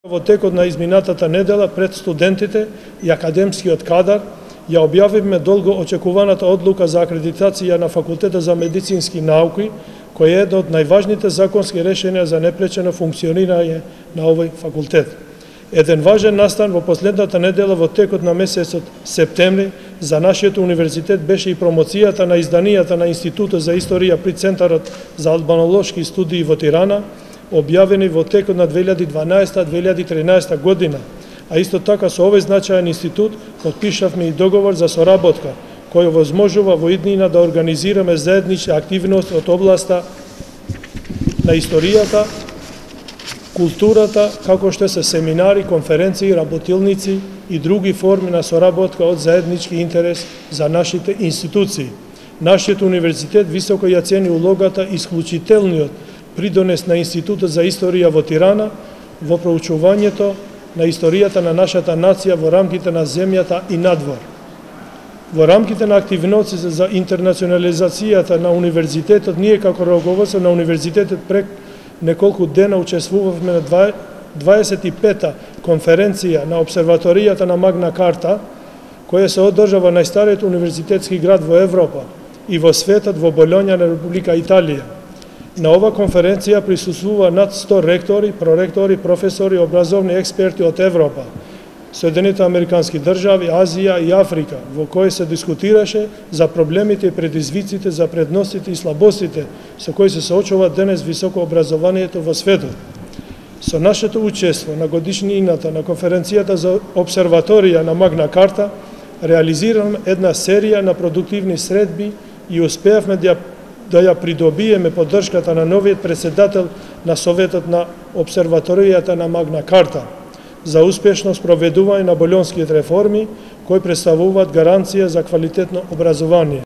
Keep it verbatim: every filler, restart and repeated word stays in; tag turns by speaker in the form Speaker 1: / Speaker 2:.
Speaker 1: Во текот на изминатата недела пред студентите и академскиот кадар ја објавивме долго очекуваната одлука за акредитација на Факултетот за медицински науки, кој е едно од најважните законски решенија за непречено функционирање на овој факултет. Еден важен настан во последната недела во текот на месецот септември за нашиот универзитет беше и промоцијата на изданијата на Институтот за историја при Центарот за албанолошки студии во Тирана, објавени во текот на две илјади дванаесета - две илјади тринаесета година, а исто така со овој значаен институт потпишавме и договор за соработка, кој овозможува во иднина да организираме заеднички активности од областа на историјата, културата, како што се семинари, конференции, работилници и други форми на соработка од заеднички интерес за нашите институции. Нашиот универзитет високо ја цени улогата и исклучителниот придонес на Институтот за историја во Тирана во проучувањето на историјата на нашата нација во рамките на земјата и надвор. Во рамките на активноците за интернационализацијата на универзитетот, ние како раководство на универзитетот пред неколку дена учествувавме на дваесет и пета конференција на обсерваторијата на Магна Карта, која се одржава на најстариот универзитетски град во Европа и во светот во Болоња на Република Италија. На ова конференција присуствува над сто ректори, проректори, професори, образовни експерти од Европа, Соединетите Американски држави, Азија и Африка, во кој се дискутираше за проблемите и предизвиците, за предностите и слабостите со кои се соочува денес високо образованието во светот. Со нашето учество на годишнината на конференцијата за обсерваторија на Магна Карта реализираме една серија на продуктивни средби и успеавме да да ја придобиеме поддршката на новиот председател на Советот на обсерваторијата на Магна Карта за успешно спроведување на болонските реформи, кои представуваат гаранција за квалитетно образование.